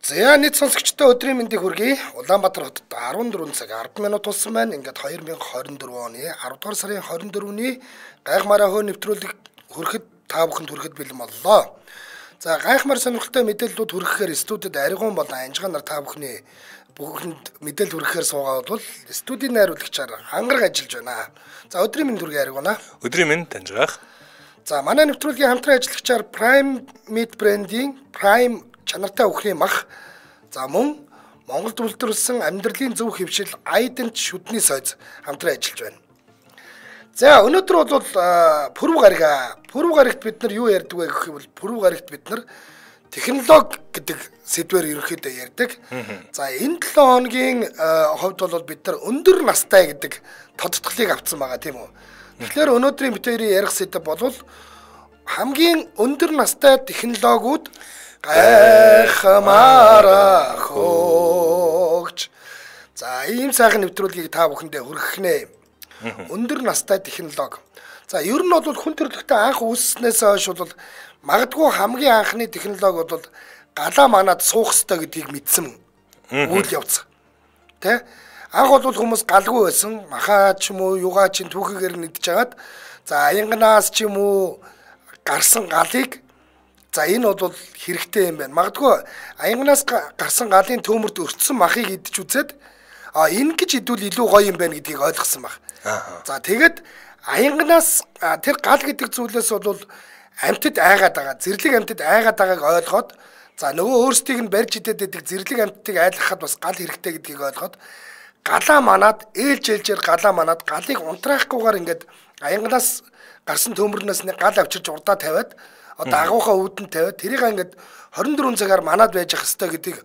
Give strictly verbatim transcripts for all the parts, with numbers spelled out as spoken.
За нийт сонсогчдоо өдрийн мэндийг хүргэе. Улаанбаатар хотод арван дөрвөн цаг арван минут болсон байна. Ингээд две тысяча двадцать four оны аравдугаар сарын двадцать четвёртний гайхмаараа хөө нэвтрүүлэг хүрэхэд та бүхэнд хүрэхэд бэлэн боллоо. За гайхмаар сонирхолтой мэдээллүүд хүрэхээр студид Аригун болон Анжгаа нар та бүхний бүгд мэдээлэл хүрэхээр суугаад бол студийн найруулагчаар ангараг ажиллаж байна. За өдрийн мэнд хүргэе Аригунаа. Өдрийн мэнд Анжгаах. За манай нэвтрүүлгийн хамтран ажиллагчаар Prime Meat брендийн Prime чанартай өхрийн мах, за мөн Монголд үйлдвэрлэсэн амьдралын зөв хэвшил Айдент шүдний сойз хамтран ажиллаж байна. За өнөөдөр бол пүрэв гарига. Пүрэв гаригт бид нар юу ярьдаг вэ гэх юм бол пүрэв гаригт бид нар технологи гэдэг сэдвээр ерөнхийдөө ярьдаг. За энэ долоо хоногийн хувьд бол бид нар өндөр настай гэдэг тодтголыг авсан байгаа тийм үү. Тэгэхээр өнөөдрийн бид хоёрын ярих сэдэв бол хамгийн өндөр настай технологиуд гайхмаараа хөөж. За ийм сайхан нэвтрүүлгийг та бүхэндээ хүргэх нэ. Өндөр настай технологи. За ер нь бол хүн төрөлхтөө анх үүсснээс хойш бол магадгүй хамгийн анхны технологи бол галаа манад суух ёстой гэдгийг мэдсэн үйл явц. Тэ? Анх бол хүмүүс галгүй байсан. Махаа ч юм уу, югаа ч түүхийгээр нэгдэж хагаад за аянгнаас ч юм уу гарсан галыг за энэ бол хэрэгтэй юм байна. Магадгүй аянгнаас гарсан галын төмөрд өртсөн махыг идэж үзээд а энэ гэж идвэл илүү гоё юм байна гэдгийг ойлгосон баг. За тэгээд аянгнаас тэр гал гэдэг зүйлээс бол амьтад айгаад байгаа. Зэрлэг амьтад айгаад байгааг ойлгоод за нөгөө өөрсдийг нь барьж идээд байдаг зэрлэг амьтдыг айлгахад бас гал хэрэгтэй гэдгийг ойлгоод галаа манаад ээлж ээлжээр галаа манаад галыг унтраахгүйгээр ингээд аянгнаас гарсан төмөрнөөс нэг гал авчирч урдаа тавиад одоо агуухаа үүдэн тавиад тэрийг ингээд двадцать four цагаар манаад байж ах хэвээр гэдгийг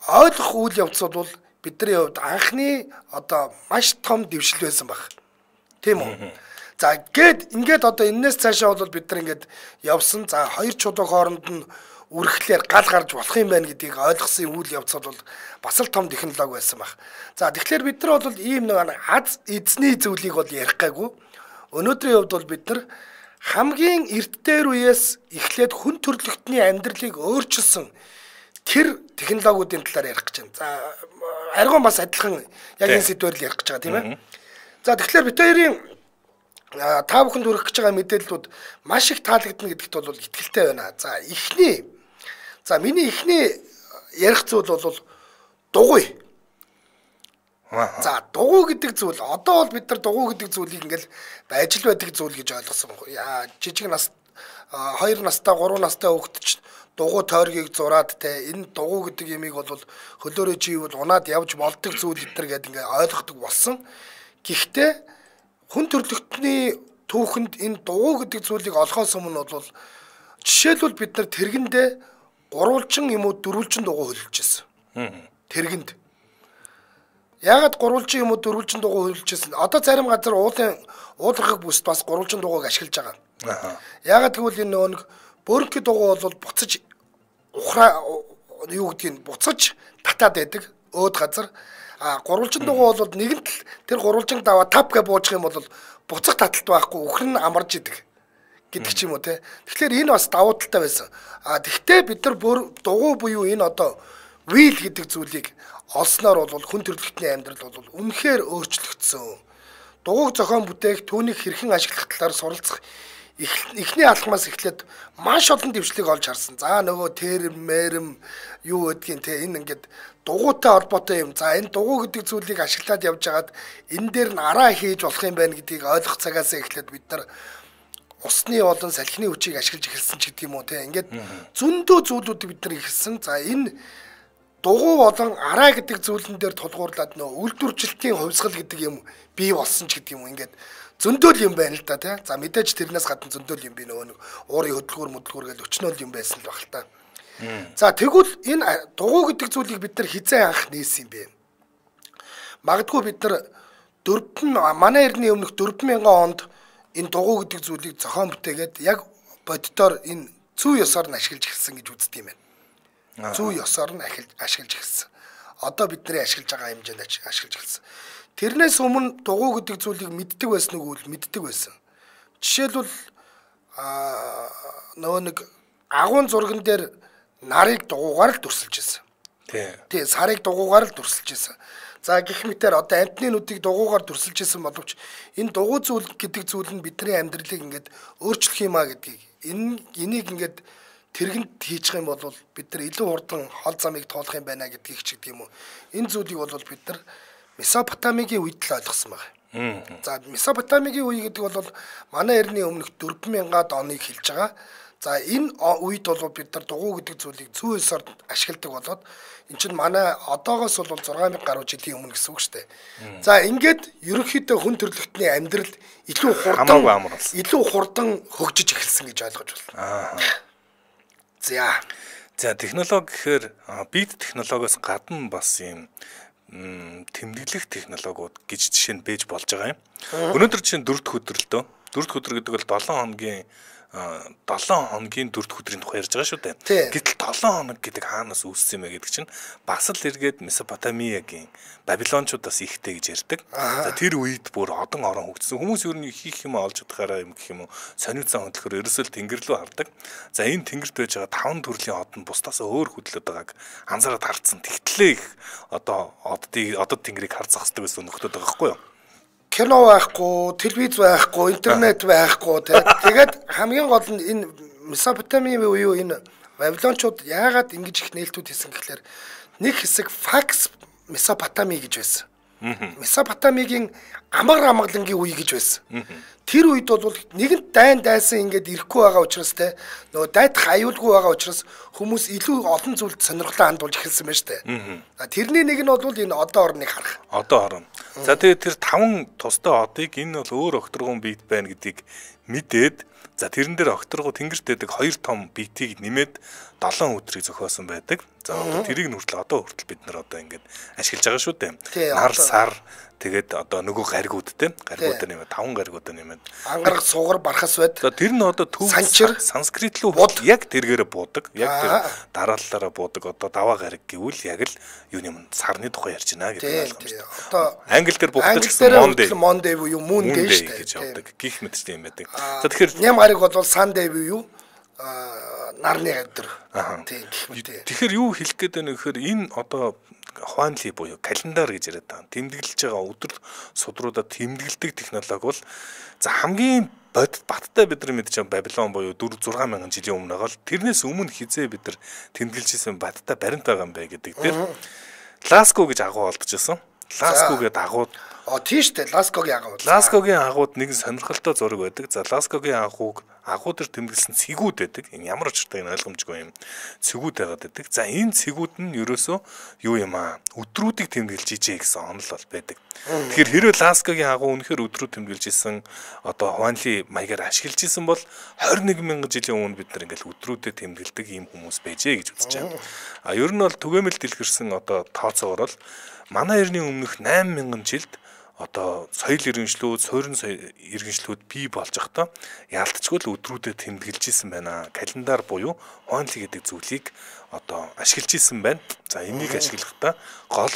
ойлгох үйл явц бол бидний хувьд анхны одоо маш том дэвшил байсан баг. Тийм үү? За гээд ингээд одоо энэс цаашаа бол бид нар ингээд явсан. За хоёр чулуу хооронд нь үргэлжлээр гал гарч болох юм байна гэдгийг ойлгосон үйл явц бол бас л том технологи байсан баг. За тэгэхээр бид нар бол ийм нэг аз эзний зүйлийг бол ярих гайгүй. Өнөөдрийн хувьд бол бид нар хамгийн эрт дээр үеэс эхлээд хүн төрөлхтний амьдралыг өөрчилсөн тэр технологиудын талаар ярих гэж байна. За Аригун бас адилхан яг энэ сэдвээр л ярих гэж байгаа тийм ээ. За тэгэхээр бид хоёрын та бүхэнд хүргэх гэж байгаа мэдээллүүд маш их таалагдана гэдэгт бол итгэлтэй байна. За эхний за миний эхний ярих зүйл бол дугуй. За дугуй гэдэг зүйл одоо бол бид нар дугуй гэдэг зүйлийг ингээл ажил байдаг зүйл гэж ойлгосон. Яа жижиг нас хоёр настай гурван настай хүүхэд ч дугуй тойргийг зураад те энэ дугуй гэдэг ямиг бол хөлөөрөө живэл унаад явж болдог зүйл гэтэр гэдэг ингээ ойлгодог болсон. Гэхдээ хүн төрөлхтний түүхэнд энэ дугуй гэдэг зүйлийг олохоос өмнө бол жишээлбэл бид нар тэргэндээ гурвалжин юм уу дөрвөлжин дугуй хөлж ирсэн. Тэргэнд ягаад гурвалжин юм уу дөрвөлжин дугуй хөлж ирсэн? Одоо зарим газар уулын уулгах бүст бас гурвалжин дугуйг ашиглаж байгаа. Ягаад гэвэл энэ нөгөө бөөрнгийн дугуй бол буцаж ухраа юу гэдгийг буцаж татаад байдаг өөд газар. А гурвалжин дугуй бол нэгэнт л тэр гурвалжин даваа тав гэж буучих юм бол буцах таталт байхгүй өхөр нь амарж идэг гэдэг ч юм уу те. Тэгэхээр энэ бас давуу талтай байсан. А тэгвэл бид нар дугуй буюу энэ одоо wheel гэдэг зүйлийг олсноор бол хүн төрөлхтний амьдрал бол үнэхээр өөрчлөгдсөн. Дугуйг зохион бүтээх, түүнийг хэрхэн ашиглах талаар суралцах эхний алхмаас эхлээд маш олон дэвшлиг олж харсан. За нөгөө терм, мэрэм юу гэдгийг те энэ ингээд дугуйтай холбоотой юм. За энэ дугуй гэдэг зүйлийг ашиглаад явж хагаад энэ дээр нь араа хийж болох юм байна гэдгийг ойлгох цагаас эхлээд бид нар усны болон салхины хүчийг ашиглаж эхэлсэн ч гэдэг юм уу те. Ингээд зөндөө зүйлүүдийг бид нар ихэлсэн. За энэ дугуй болон араа гэдэг зүйлэн дээр тулгуурлаад нөө үйлдвэржилтийн хувьсгал гэдэг юм бий болсон ч гэдэг юм уу. Ингээд зөндөл юм байна л да тий. За мэдээж тэрнээс гадна зөндөл юм би нөгөө нэг уурын хөдөлгүүр мөдөлгүүр гэж өчнөл юм байсан л баг л та. За тэгвэл энэ дугуй гэдэг зүйлийг бид нар хизээ анх нээсэн юм бэ? Магадгүй бид нар дөрвөн манай эртний өмнөх дөрвөн мянган онд энэ дугуй гэдэг зүйлийг зохион бүтээгээд яг боддоор энэ зүй ёсоор нь ашиглаж эхэлсэн гэж үздэг юм байна. Зүй ёсоор нь ашиглаж эхэлсэн. Одоо бидний ашиглаж байгаа хэмжээнд ашиглаж эхэлсэн. Тэрнээс өмнө дугуй гэдэг зүйлийг мэддэг байсан уу гэвэл мэддэг байсан. Жишээлбэл аа нөгөө нэг агуун зурган дээр нарыг дугуйгаар л дүрсэлж байсан. Тий, сарыг дугуугаар л дүрсэлж байсан. За гэх мэтээр одоо амтны нүдийг дугуугаар дүрсэлж байсан боловч энэ дугуй зүйл гэдэг зүйл нь бидний амьдралыг ингээд өөрчлөх юм а гэдгийг энэ энийг ингээд тэргэнд хийчих юм бол бид нар илүү хурдан хол замыг тоолох юм байна гэдгийг ч гэдэг юм уу. Энэ зүйлийг бол бид нар Месопотамигийн үед л ойлгосон байна. За Месопотамигийн үе гэдэг бол манай эртний өмнөх дөрвөн мянган оныг хэлж байгаа. За энэ үед бол бид нар дугуй гэдэг зүйлийг зүүн ёсоор ашигладаг болоод эн чинь манай одоогоос бол зургаан мянга гаруй жилийн өмнө гэсэн үг шүү дээ. За ингээд ерөнхийдөө хүн төрөлхтний амьдрал илүү хурдан илүү хурдан хөгжиж эхэлсэн гэж ойлгож байна. За. За технологи гэхээр бид технологиос гадна бас юм тэмдэглэх технологиуд гэж жишээ нь бэж болж байгаа юм. Өнөөдөр чинь дөрөвд өдөр л дөө. Дөрөвд өдөр гэдэг бол долоон хоногийн долоон хоногийн дөрөвд өдрийн тухай ярьж байгаа шүү дээ. Гэтэл долоон хоног гэдэг хаанаас үүссэн юм бэ гэдэг чинь бас л эргээд Месопотамиагийн Бабилончуудаас ихтэй гэж ярьдаг. За тэр үед бүр одон орон хөгжсөн. Хүмүүс юу нэг хийх юм олж чадхаараа юм гэх юм уу сонир зан хөдөлгөөр ерөөсөө тэнгэр рүү хардаг. За энэ тэнгэрт байж байгаа таван төрлийн од нь бусдаас өөр хөдлөд байгааг анзаараад харцсан. Тэгтлээ их одоо оддыг одод тэнгэрийг харж зах хэрэгтэй гэсэн нөхдөд байгаа байхгүй юу? Кино байхгүй, телевиз байхгүй, интернет байхгүй тэгээд хамгийн гол нь энэ Месопотамийн үеийн энэ Бабилончууд яагаад ингэж их нээлтүүд хийсэн гэхлээр нэг хэсэг факс Месопотами гэж байсан. Месопотамигийн амар амгалангийн үе гэж байсан. Тэр үед бол нэгэнт дайн дайсан ингээд ирэхгүй байгаа учраас те нөгөө дайдах аюулгүй байгаа учраас хүмүүс илүү олон зүйлд сонирхлоо хандуулж эхэлсэн байна шүү дээ. Тэрний нэг нь бол энэ одоо орныг харах. Одоо орно. За тэгээд тэр таван тустай одыг энэ бол өөр огторгон бит байна гэдгийг мэдээд за тэрэн дээр огторгоо тэнгэрт байдаг хоёр том битийг нэмээд долоон өдрийг зохиосон байдаг. За одоо тэрийг нь хүртэл одоо хүртэл бид нар одоо ингээд ашиглаж байгаа шүү дээ. Нар сар тэгээд одоо нөгөө гаригууд те гаригууд нэмээд таван гаригууд нэмээд ангарах сугар бархас байд. За тэр нь одоо төв санскрит руу яг тэргээрээ буудаг. Яг тэр дараалалаараа буудаг одоо даваа гариг гэвэл яг л юуны юм сарны тухай ярьж байна гэдэг ойлгомжтой. Одоо англи дээр буудаг гэсэн Monday Monday буюу Moon Day гэж явдаг. Гих мэтчтэй юм байдаг. За тэгэхээр ням гариг бол Sunday буюу нарны өдөр. Тийм гэх мэт. Тэгэхээр юу хэлэх гээд байна гэхээр энэ одоо Хуанли буюу календар гэж яриад байгаа. Тэмдэглэж байгаа өдөр судруудаа тэмдэглэдэг технологи бол за хамгийн бодит баттай бид нар мэдж байгаа Бабилон буюу дөрвөн зургаан мянган жилийн өмнө байгаа л тэрнээс өмнө хизээ бид нар тэмдэглэж исэн баттай баримт байгаа юм бэ гэдэг дээр Ласко гэж агуу олдчихсон. Ласко гэдэг агууд А тийш дээ Ласкогийн агууд. Ласкогийн агууд нэгэн сонирхолтой зураг байдаг. За Ласкогийн агууг агуудаар тэмдэглэсэн цэгүүд байдаг. Энэ ямар учиртай энэ ойлгомжгүй юм. Цэгүүд байгаад байдаг. За энэ цэгүүд нь ерөөсөө юу юм аа? Өдрүүдийг тэмдэглэж ижээ гэсэн онол бол байдаг. Тэгэхээр хэрвээ Ласкогийн агуу үнэхээр өдрүүд тэмдэглэж исэн одоо Хуанли маягаар ашиглаж исэн бол двадцать one мянган жилийн өмнө бид нар ингээл өдрүүдэд тэмдэглэдэг ийм хүмүүс байжээ гэж үзэж байна. А ер нь бол түгээмэл дэлгэрсэн одоо тооцоогоор бол манай эртний өмнөх eight мянган жилд одоо соёл иргэншлүүд, суурин иргэншлүүд бий болж байхдаа яалтчгүй л өдрүүдэд тэмдэглэж исэн байна. Календар буюу Хуанли гэдэг зүйлийг одоо ашиглаж исэн байна. За энийг ашиглахдаа гол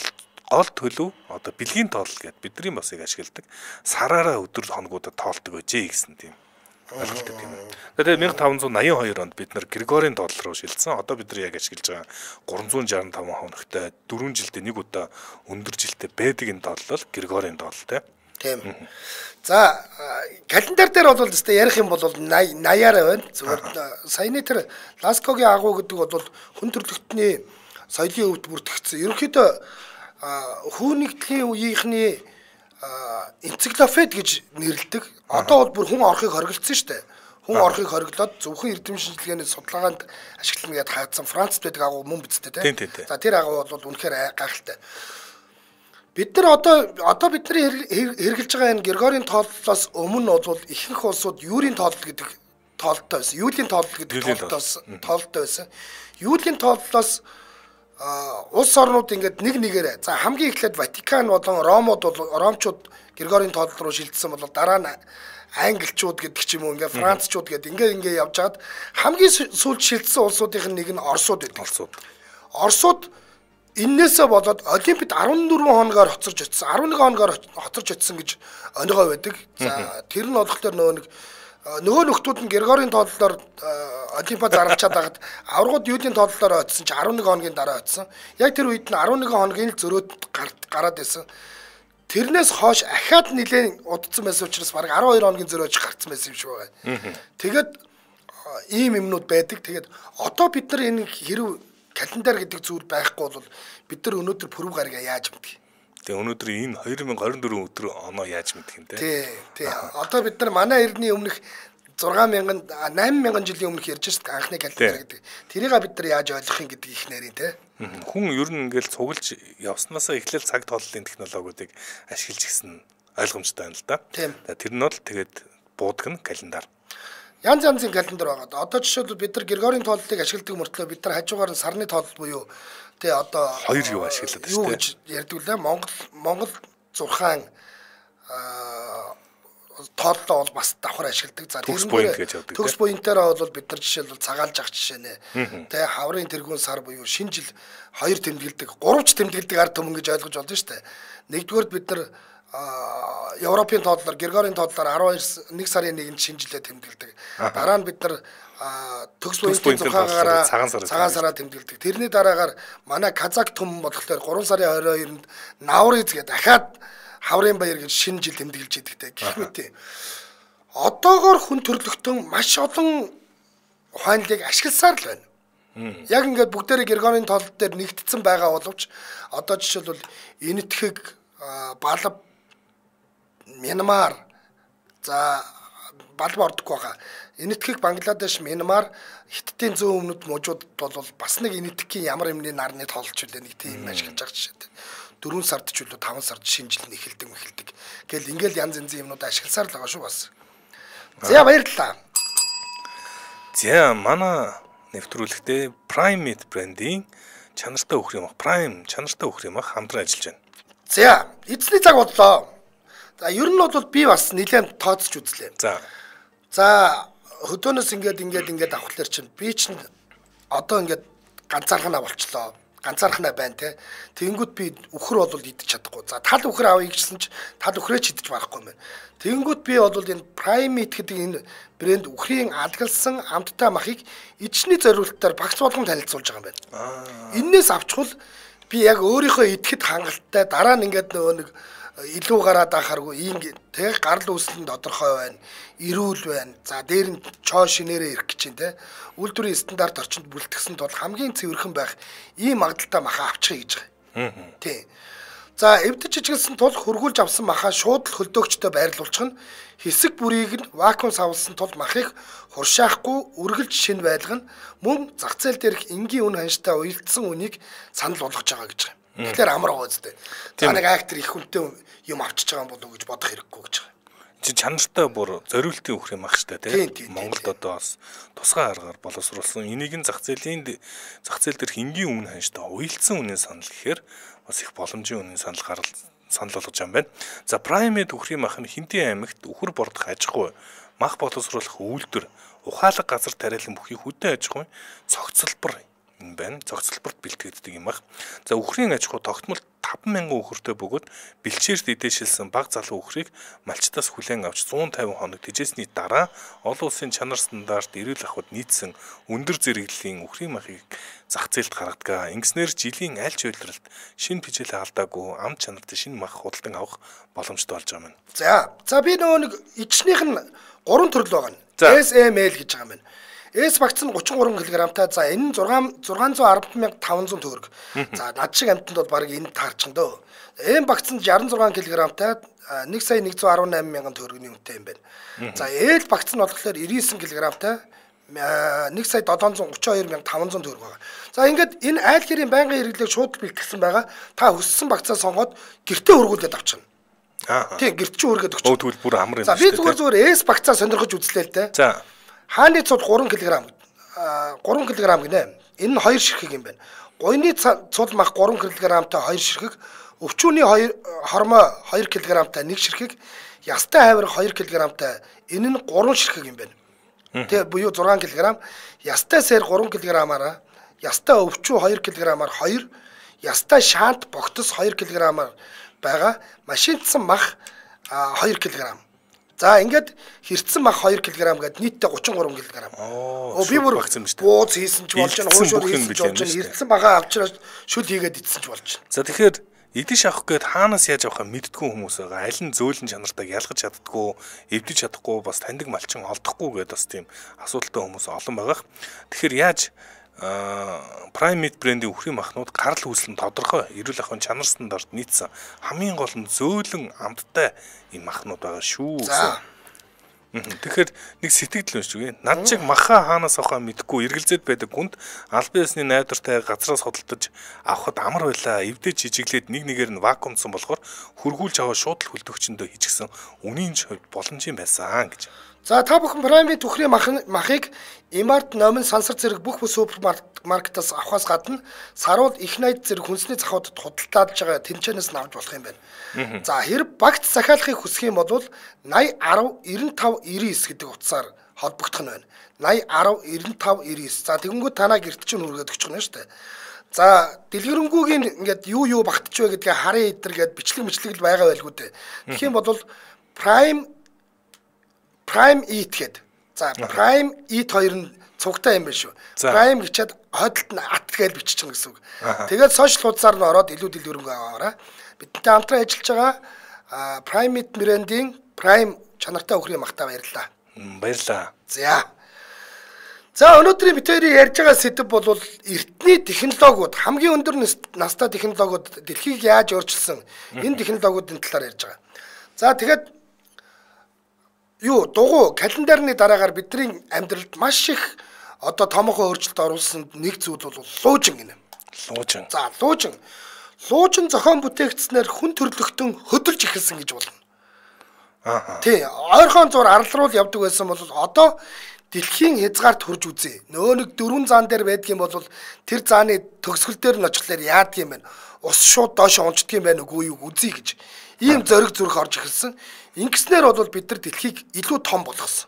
гол төлөв одоо бэлгийн тоолол гэдэг бидний басыг ашигладаг. Сараараа өдөр хоногудад тоолдог байжээ гэсэн тийм ойлголттой тийм ээ. Тэгээд five eighty-two онд бид нар Григорийн тоолол руу шилжсэн. Одоо бид нар яг ашиглаж байгаа three sixty-five хоногтой four жилдээ нэг удаа өндөр жилдээ байдаг энэ тоолол бол Григорийн тоолол тийм. За календар дээр бол өстой ярих юм бол eighty-аар байна. Зүгээр саяны тэр Ласкогийн агуу гэдэг бол хүн төрөлхтний соёлын өвд бүртгэгдсэн. Ерөнхийдөө хүүнэгдлийн үеийнхний энциклопед гэж нэрлэдэг. Одоо бол бүр хүн орохыг хориглосон шүү дээ. Хүн орохыг хориглоод зөвхөн эрдэм шинжилгээний судалгаанд ашиглана гэдээ хаацсан Францд байдаг агуу мөн бидтэй тийм. За тэр агуу бол үнэхээр гайхалтай. Бид нар одоо одоо бидний хэрэгжилж байгаа энэ Григорийн тооллоос өмнө бол ихэнх улсууд юулийн тоолол гэдэг тоололтой байсан. Юулийн тоолол гэдэг тоололтоос тоололтой байсан. Юулийн тооллоос улс орнууд ингээд нэг нэгээрээ за хамгийн эхлээд Ватикан болон Ромууд бол Ромчууд Григорийн тоолол руу шилжсэн бол дараа нь англичууд гэдэг ч юм уу ингээд францчууд гэдэг ингээд ингээд явж хаад хамгийн сүүлд шилжсэн улсуудын нэг нь Оросууд байдаг. Оросууд. Оросууд эннээсээ болоод Олимпиад fourteen хоногоор хоцорч очсон. eleven хоногоор хоцорч очсон гэж оногоо байдаг. За тэр нь болохоор нөгөө нэг нөгөө нөхдүүд нь Григорийн тооллоор Олимпиад заралчаад байгаад аврагууд юудын тооллоор очсон чи арван нэг хоногийн дараа очсон. Яг тэр үед нь арван нэг хоногийн л зөрөөд гараад байсан. Тэрнээс хойш ахаад нэлээд удацсан байсан учраас баг арван хоёр хоногийн зөрөөж гарцсан байсан юм шиг байгаа. Тэгээд ийм юмнууд байдаг. Тэгээд одоо бид нар энэ хэрэг календар гэдэг зүйл байхгүй бол бид нар өнөөдөр пүрэв гарагаа яаж мэдгий? Тэгээ өнөөдөр энэ две тысячи двадцать четыре өдөр оноо яаж мэдэх юм те? Тий, тий. Одоо бид нар манай эрдний өмнөх six thousand eight thousand жилийн өмнөх ярьж шít анхны календар гэдэг. Тэрийг бид нар яаж ойлгох юм гэдэг их нарийн те. Хүн ер нь ингээл цуглаж явснаасаа эхлээл цаг тооллын технологиудыг ашиглаж гисэн ойлгомжтой байна л да. Тэр нь бол тэгээд буудаг нь календар. Янз янзын календар байгаа. Одоо жишээлбэл бид нар Григорийн тооллыг ашигладаг мөртлөө бид нар хажуугаар нь сарны тоолл буюу тэ одоо хоёр юу ашиглаад байна шүү дээ. Юу гэж ярьдаг лээ Монгол Монгол зурхаан тооллоо бол бас давхар ашигладаг. За төгс буйнт гэж явдаг. Төгс буйнтаараа бол бид нар жишээлбэл цагаалж ах жишээ нэ. Тэ хаврын тэргүүн сар буюу шинэ жил хоёр тэмдэглэдэг, гуравч тэмдэглэдэг ард түмэн гэж ойлгож болно шүү дээ. Нэгдүгээр бид нар Европын тооллоор Григорийн тооллоор twelve сарын нэгнд шинэ жилээ тэмдэглэдэг. Дараа нь бид нар төгс буйнтын зурхаагаараа цагаан сараа тэмдэглэдэг. Тэрний дараагаар манай Казак түмэн болохоор three сарын twenty-second-нд Навриз гэдэг дахиад хаврын баяр гэж шинэ жил тэмдэглэж идэгтэй. Гэх мэт. Одоогоор хүн төрлөختөн маш олон ухаанлыг ашигласаар л байна. Яг ингээд бүгдээрээ Григорийн тоолл дээр нэгдсэн байгаа боловч одоо жишээлбэл Энэтхэг, Балав, Мянмар, за Балав ордоггүй байгаа. Энэтхэг, Бангладеш, Мянмар, Хятадын зүүн өмнөд мужууд бол бас нэг Энэтхэгийн ямар юмны нарны тоолч үлээ нэг тийм ашиглаж байгаа жишээ. four сард ч үлээ five сард шинэ жил нь эхэлдэг мэхэлдэг. Гэтэл ингээл янз янзын юмнууд ашигласаар л байгаа шүү бас. За баярлалаа. За манай нэвтрүүлэгтээ Prime брендийн чанартай өхөр юм ах Prime чанартай өхөр юм ах хамтран ажиллаж байна. За эзний цаг бодлоо. За ер нь бол би бас нэлээд тооцож үзлээ. За. За хөдөөнөөс ингээд ингээд ингээд авахлаар чинь би чинь одоо ингээд ганцаархнаа болчлоо. Ганцаархнаа байна те. Тэнгүүд би өхөр бол идэж чадахгүй. За тал өхөр авъя гэсэн чи тал өхрөө ч идэж барахгүй юм байна. Тэнгүүд би бол энэ Prime гэдэг энэ брэнд өхрийн алгалсан амттай махыг ичний зориулалтаар багц болгон танилцуулж байгаа юм байна. Эннээс авчвал би яг өөрийнхөө идэхэд хангалттай дараа нь ингээд нөгөө нэг илүү гараад ахааргүй ийм тэг гарал үүсэл нь тодорхой байна. Ирүүл байна. За дээр нь чоо шинээрээ ирэх гэж чинь те. Үйлдвэрийн стандарт орчинд бүрэлдэхсэн тул хамгийн цэвэрхэн байх ийм магадaltaй маха авчихъя гэж байгаа. Тий. За эвдэж чиглэсэн тул хөргүүлж авсан махаа шууд л хөлдөөгчдөө байрлуулчих нь хэсэг бүрийг нь вакуум савлсан тул махыг хуршаахгүй үргэлж шинэ байлгана мөн зах зээл дээрх энгийн үн ханштай уялдсан үнийг санал болгож байгаа гэж байгаа. Тэгэхээр амар байгаа үстэй. За нэг актер их хүнтэй юм авчиж байгаа юм болов уу гэж бодох хэрэггүй гэж байгаа. Чи чанартай бүр зориултын өхөр юм ах штэ тий. Монголд одоо бас тусгай аргаар боловсруулсан. Энийг нь зах зээлийн зах зээл дээрх энгийн үн ханштай уялдсан үнийн санал гэхээр бас их боломжийн үнийн санал гарал санал болгож байгаа юм байна. За Prime өхрийн мах нь Хинтээ аймагт өхөр бордох аж ахуй, мах боловсруулах үйлдвэр, ухаалаг газар тариалан бүхий хөдөө аж ахуйн цогцлбор юм байна. Цогцлборт бэлтгэгддэг юм ах. За өхрийн аж ахуй тогтмол five thousand өхөртэй бөгөөд бэлчээрт эдээшилсэн баг залуу өхрийг малчтаас хүлээн авч one hundred fifty хоног тэжээсний дараа олон улсын чанар стандарт эрүүл ахуйд нийцсэн өндөр зэрэглэлийн өхрийн махыг зах зээлд гаргадаг. Ингэснээр жилийн аль ч үйлрэлт шинэ пижэл алдаагүй ам чанартай шинэ мах худалдан авах боломжтой болж байгаа юм. За за би нөгөө нэг ичнийх нь гурван төрөл байгаа нь. эс эм эл гэж байгаа юм байна. Эс багц нь thirty-three кг-тай. За энэ нь six hundred twelve thousand five hundred төгрөг. За над шиг амтнд бол баг энэ таарчин дөө. Эм багц нь sixty-six кг-тай one сая one hundred eighteen мянган төгрөгийн үнэтэй юм байна. За ээл багц нь болохоор ninety-nine кг-тай one сая seven hundred thirty-two мянган five hundred төгрөг байгаа. За ингээд энэ айл гэрийн байнгын хэрэглээг шууд бэлтгэсэн байгаа. Та хүссэн багцаа сонгоод гэртээ хөргүүлээд авчихна. Аа. Тийм гэрт чи хөргөөд өгч. Өө тэгвэл бүр амар юм шүү дээ. За би зүгээр зүгээр эс багцаа сонирхож үзлээ л дээ. За хааны цуд three кг three кг гинэ. Энэ нь two ширхэг юм байна. Гойны цуд мах three кг-тай two ширхэг, өвчүүний хормоо two кг-тай one ширхэг, ястай хавар two кг-тай энэ нь three ширхэг юм байна. Тэгээ буюу six кг, ястай сэр three кг-аараа, ястай өвчүү two кг-аар two, ястай шаант богтос two кг-аар байгаа машинтсан мах two кг. За ингээд хэрцэн мах хоёр килограмм гээд нийтдээ гучин гурван килограмм. Оо би бүр багц юм шүү дээ. Бууз хийсэн ч болж байна, хуушуур хийсэн ч болж байна. Хэрцэн багаа авчраад шүл хийгээд идсэн ч болж байна. За тэгэхээр идэж авах гээд хаанаас яаж авахаа мэддгүй хүмүүс байгаа. Аль нь зөөлөн чанартайг ялгаж чаддгүй, эвдэж чадахгүй, бас таньдаг малчин олдохгүй гэдээ бас тийм асуудалтай хүмүүс олон байгаа. Тэгэхээр яаж Prime Meat брендийн үхрийн махнууд гарал үүсэл нь тодорхой эрүүл ахуйн чанар стандарт нийцсэн хамгийн гол нь зөөлөн амттай энэ махнууд байгаа шүү. Тэгэхээр нэг сэтгэл өнш үгүй. Над чиг маха хаанаас авахаа мэдэхгүй эргэлзээд байдаг хүнд аль биесний найдвартай газраас хөдөлтөж авахд амар байлаа. Эвдэж жижиглээд нэг нэгээр нь вакуумсан болохоор хөргүүлж аваа шууд л хөлтөгчөндөө хийчихсэн үнийн боломжийн байсан гэж. За та бүхэн Prime Meat үхрийн махыг Emart, Номин, Сансар зэрэг бүх бүх супермаркетаас авахаас гадна саруул их найд зэрэг хүнсний захуудад худалдааж байгаа тэнцэнээс нь авч болох юм байна. За хэрэг багц захиалахыг хүсэх юм бол наяа арав девяносто пять девяносто девять гэдэг утсаар холбогдох нь байна. наяа арав девяносто пять девяносто девять. За тэгэнгүүт танаа гэрт чинь хүргээд өччих нь шүү дээ. За дэлгэрэнгүйгийн ингээд юу юу багтж вэ гэдгээ харын идэр гээд бичлэг мэтлэг л байгаа байлгүй дээ. Тэгэх юм бол Prime Prime Eat гэдэг. За Prime Eat хоёр нь цугтай юм байна шүү. Prime гэчээд хойдолд нь ат гэж бичиж байгаа гэсэн үг. Тэгээд сошиал хуудасаар нь ороод илүү дэлгэрэнгүй аваарай. Бидэнтэй хамтран ажиллаж байгаа Prime Meat брендийн Prime чанартай үхрийн махтаа баярлалаа. Баярлалаа. За. За өнөөдрийн бид хоёрын ярьж байгаа сэдэв бол эртний технологиуд хамгийн өндөр настай технологиуд дэлхийг яаж өөрчилсөн энэ технологиудын талаар ярьж байгаа. За тэгээд юу дугуй календарны дараагаар бидний амьдралд маш их одоо томоохон өөрчлөлт оруулсан нэг зүйл бол луужин гинэ. Луужин. За луужин. Луужин зохион бүтээгдснээр хүн төрлөختөн хөдөлж эхэлсэн гэж болно. Аа. Тий, ойрхон зур арал руу явдаг байсан бол одоо дэлхийн хязгаарт хүрж үзье. Нөө нэг дөрвөн заан дээр байдгийн бол тэр зааны төгсгөл дээр нь очихлаар яадаг юм бэ? Ус шууд доош унцдаг юм байна үгүй юу үзье гэж. Ийм зориг зүрх орж эхэлсэн. Ингэснээр бол бид нар дэлхийг илүү том болгосон.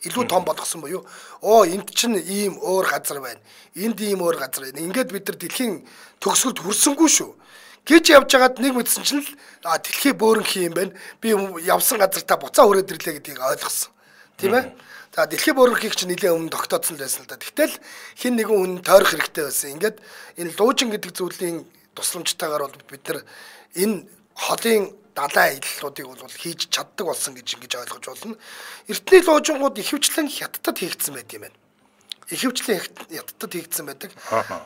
Илүү том болгосон буюу оо энд чинь ийм өөр газар байна. Энд ийм өөр газар байна. Ингээд бид нар дэлхийн төгсгөлд хүрсэнгүй шүү. Гэж явж байгаад нэг мэдсэн чинь л дэлхий бөөрөнх юм байна. Би явсан газартаа буцаа хүрээд ирлээ гэдгийг ойлгосон. Тийм ээ? За дэлхий бөөрөнхийг чинь нэлээд өмнө тогтооцсон л байсан л да. Гэтэл хин нэгэн хүн тойрох хэрэгтэй байсан. Ингээд энэ луужин гэдэг зүйлийн тусламжтайгаар бол бид нар энэ холын далайн аяллуудыг бол хийж чаддаг болсон гэж ингэж ойлгож болно. Эртний луужингууд ихэвчлэн хятадд хийгдсэн байт юм байна. Ихэвчлэн хятадд хийгдсэн байдаг.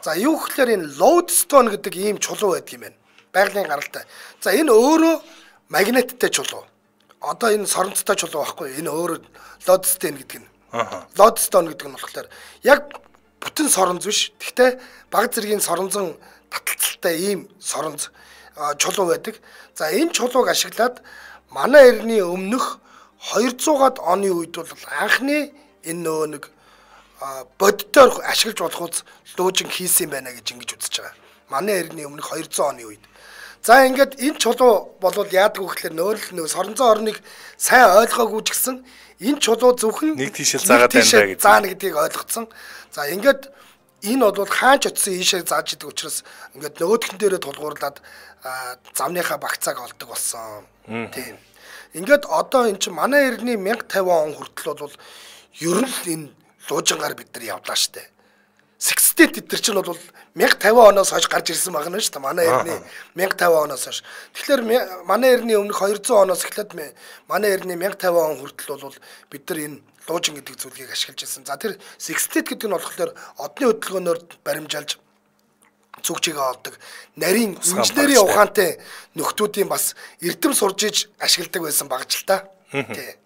За юу гэхээр энэ лоудстон гэдэг ийм чулуу байдаг юм байна. Байгалийн гаралтай. За энэ өөрөө магниттай чулуу. Одоо энэ соронцтой чулуу байхгүй. Энэ өөрөө лоудстон гэдэг нь. Лоудстон гэдэг нь болохоор яг бүтэн соронз биш. Гэхдээ баг зэргийн соронзон таталцалтай ийм соронз чулуу байдаг. За энэ чулууг ашиглаад манай эртний өмнөх двухсад оны үед бол анхны энэ нөө нэг боддоор ашиглаж болох үз луужин хийсэн байна гэж ингэж үзэж байгаа. Манай эртний өмнөх двухсад оны үед. За ингээд энэ чулуу болвол яадаг вэ гэхээр нөөл нөө соронзон орныг сайн ойлгоогүй ч гэсэн энэ чулуу зөвхөн нэг тийшэл заагаад байна гэж заана гэдгийг ойлгоцсон. За ингээд энэ бол хаач очисон ийшээ зааж идэг учраас ингээд нөгөөдхөн дээрээ тулгуурлаад замныхаа багцааг олдог болсон. Тийм. Ингээд одоо эн чинь манай эртний мянга тавин он хүртэл бол ер нь энэ луужингаар бид нар явлаа штэ. Sixtet эдгээр чинь бол мянга тавин оноос хойш гарч ирсэн байна шүү дээ. Манай эртний мянга тавин оноос хойш. Тэгэхээр манай эртний өмнөх двухсад оноос эхлээд манай эртний мянга тавин он хүртэл бол бид нар энэ луужин гэдэг зүйлийг ашиглаж байсан. За тэр Sixtet гэдэг нь болохоор одны хөдөлгөөнөөр баримжаалж зүгжигээ олдог. Нарийн инженерийн ухаантай нөхдүүдийн бас эрдэм сурж иж ашигладаг байсан багж л та. Тий.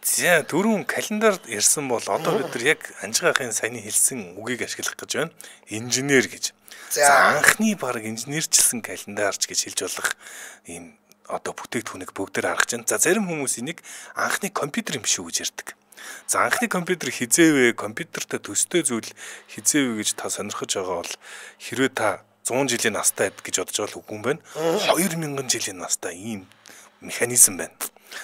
За дөрвөн календард ирсэн бол одоо бид нар яг анжгаахын саяны хэлсэн үгийг ашиглах гэж байна. Инженер гэж. За анхны баг инженерчилсэн календарч гэж хэлж болох ийм одоо бүтээгдэхүүнийг бүгдээр харгаж байна. За зарим хүмүүс энийг анхны компьютер юм шүү гэж ярьдаг. За анхны компьютер хизээвэ, компьютертэй төстэй зүйл хизээвэ гэж та сонирхож байгаа бол хэрвээ та зуун жилийн настай гэж бодож байгаа л үгүй юм байна. хоёр мянган жилийн настай ийм механизм байна.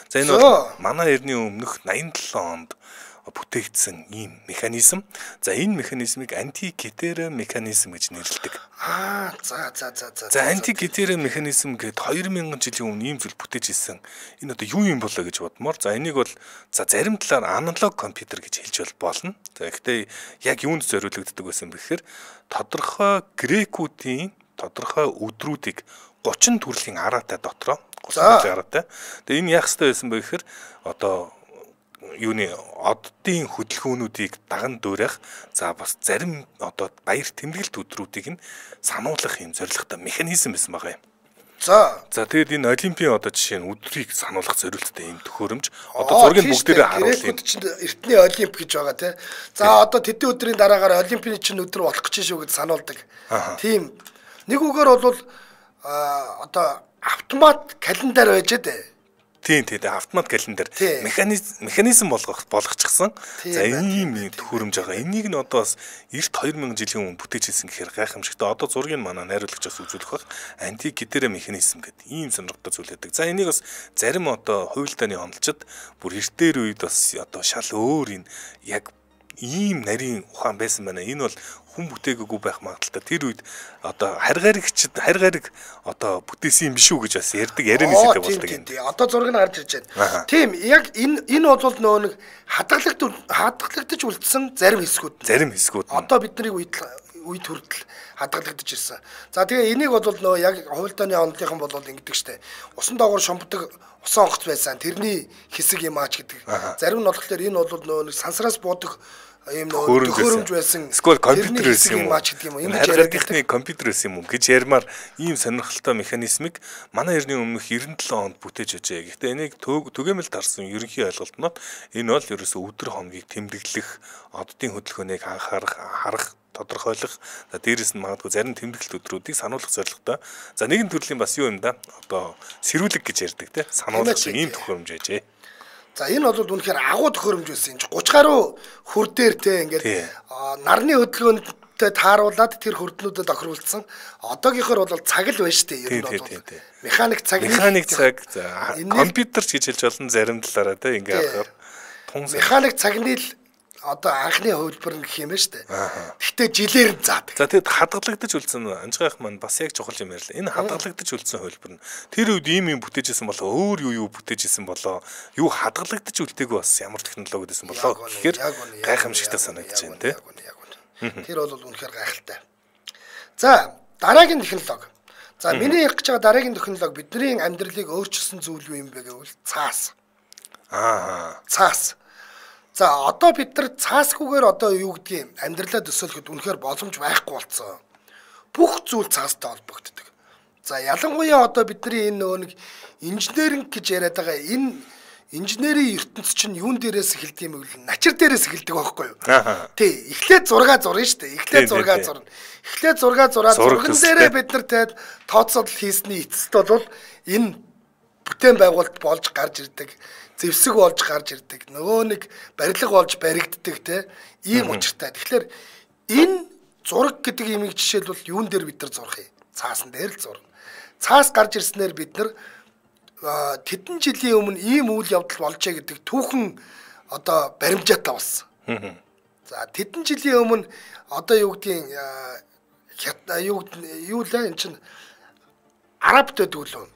За энэ бол манай эртний өмнөх найман долоо онд бүтээгдсэн ийм механизм. За энэ механизмыг антикетера механизм гэж нэрлэдэг. Аа за за за за. За антикетера механизм гэдэг две мянган жилийн өмнө ийм зүйл бүтээж ирсэн. Энэ одоо юу юм болоо гэж бодмоор. За энийг бол за зарим талаар аналог компьютер гэж хэлж болно. За гэхдээ яг юунд зориулагддаг байсан бэхээр тодорхой грекүүдийн тодорхой өдрүүдийг гучин төрлийн араатай дотроо гучин араатай. Тэгээ энэ яах ёстой байсан бэ гэхээр одоо юуны оддын хөдөлгөөнүүдийг даган дуурайх за бас зарим одоо баяр тэмдэглэлт өдрүүдийг нь сануулгах юм зорилготой механизм байсан байгаа юм. За за тэгээд энэ олимпийн одоо жишээ нь өдрийг сануулгах зорилттой юм төхөөрөмж одоо зургийг бүгдээрээ харуулъя. Эртний олимп гэж байгаа тий. За одоо тэдний өдрийн дараагаар олимпийн чинь өдөр болох гэж шүү гэж сануулдаг. Тийм нэг үгээр бол одоо автомат календар байж дээ. Тийм тийм автомат календар механизм механизм болгох болгочихсон. За ийм нэг төхөөрөмж байгаа. Энийг нь одоо бас эрт две мянган жилийн өмнө бүтээжсэн гэхээр гайхамшигтай. Одоо зургийг манай найруулагч бас үзүүлэх бах. Антикетера механизм гэдэг ийм сонирхолтой зүйл байдаг. За энийг бас зарим одоо хуйлдааны онолчид бүр эртээр үед бас одоо шал өөр энэ яг ийм нарийн ухаан байсан байна. Энэ бол хүн бүтээгээгүй байх магадaltaй. Тэр үед одоо харгаригчд харгариг одоо бүтээсэн юм биш үү гэж бас ярьдаг ярианы сэдв болдог юм. Одоо зураг нь гарч ирж байна. Тийм яг энэ энэ бол нөө нэг хадгалагдж хадгалагдж үлдсэн зарим хэсгүүд. Зарим хэсгүүд. Одоо бидний үед үед хүртэл хадгалагдж ирсэн. За тэгээ энийг бол нөө яг хуйлдааны онолынхан бол ингэдэг штэ. Усан доогоор шомбдог усан онгоц байсан. Тэрний хэсэг юм аач гэдэг. Зарим нь болохоор энэ бол нөө нэг сансраас буудаг ийм нөө төхөөрөмж байсан. Эсвэл компьютер байсан юм уу? Юм харгалгын компьютер байсан юм уу гэж ярмаар ийм сонирхолтой механизмыг манай эртний өмнөх девяносто seven онд бүтээж ажээ. Гэхдээ энийг түгээмэл дарсан ерөнхий ойлголтнод энэ бол ерөөсөө өдөр хоногийг тэмдэглэх, оддын хөдөлгөөнийг анхаарах, харах тодорхойлох. За дээрэс нь магадгүй зарим тэмдэглэлт өдрүүдийг сануулгах зорилготой. За нэгэн төрлийн бас юу юм да? Одоо сэрүүлэг гэж ярьдаг те. Сануулгах ийм төхөөрөмж ажээ. За энэ бол үнэхээр агуу төхөөрөмж байсан. тридцать гаруй хүр дээр те ингээд нарны хөдөлгөөнтэй тааруулаад тэр хөрднүүдэд тохируулсан. Одоогийнхоор бол цаг л байна штэ. Ер нь бол механик цаг. Механик цаг. За компьютер ч гэж хэлж болно зарим талаараа те ингээд харахаар тун механик цагны л одоо анхны хувилбар гэх юм байна штэ. Гэхдээ жилээр нь заадаг. За тэгэд хадгалагдаж үлдсэн анжгаах маань бас яг чухал юм ярьлаа. Энэ хадгалагдаж үлдсэн хувилбар нь тэр үед ийм юм бүтээжсэн болоо өөр юу юу бүтээжсэн болоо юу хадгалагдаж үлдээгүй бас ямар технологи байсан болоо гэхээр гайхамшигтай санагдаж байна те. Тэр бол үнэхээр гайхалтай. За дараагийн технологи. За миний ярих гэж байгаа дараагийн технологи бидний амьдралыг өөрчилсөн зүйл юу юм бэ гэвэл цаас. Аа. Цаас. За одоо бид нар цаасгүйгээр одоо юу гэдгийг амьдралаа төсөөлөхөд үнэхээр боломж байхгүй болцсон. Бүх зүйл цаастай холбогддог. За ялангуяа одоо бидний энэ нөгөө нэг инженеринг гэж яриад байгаа энэ инженерийн ертөнц чинь юун дээрээс эхэлдэг юм бэ? Начир дээрээс эхэлдэг байхгүй юу? Тий, эхлээд зураг зурна шүү дээ. Эхлээд зураг зурна. Эхлээд зураг зураад зурган дээрээ бид нар таад тооцоолол хийсний эцэст бол энэ бүтээн байгуулалт болж гарч ирдэг. Зэвсэг болж гарч ирдэг. Нөгөө нэг барилга болж баригддаг те ийм учиртай. Тэгэхээр энэ зураг гэдэг юмыг жишээлбэл юун дээр бид нар зурх юм? Цаасан дээр л зурна. Цаас гарч ирснээр бид нар тэдэн жилийн өмнө ийм үйл явдал болжээ гэдэг түүхэн одоо баримжаатай болсон. За тэдэн жилийн өмнө одоо юу гэдгийг юу юу л энэ чинь арабт байдаг лөө.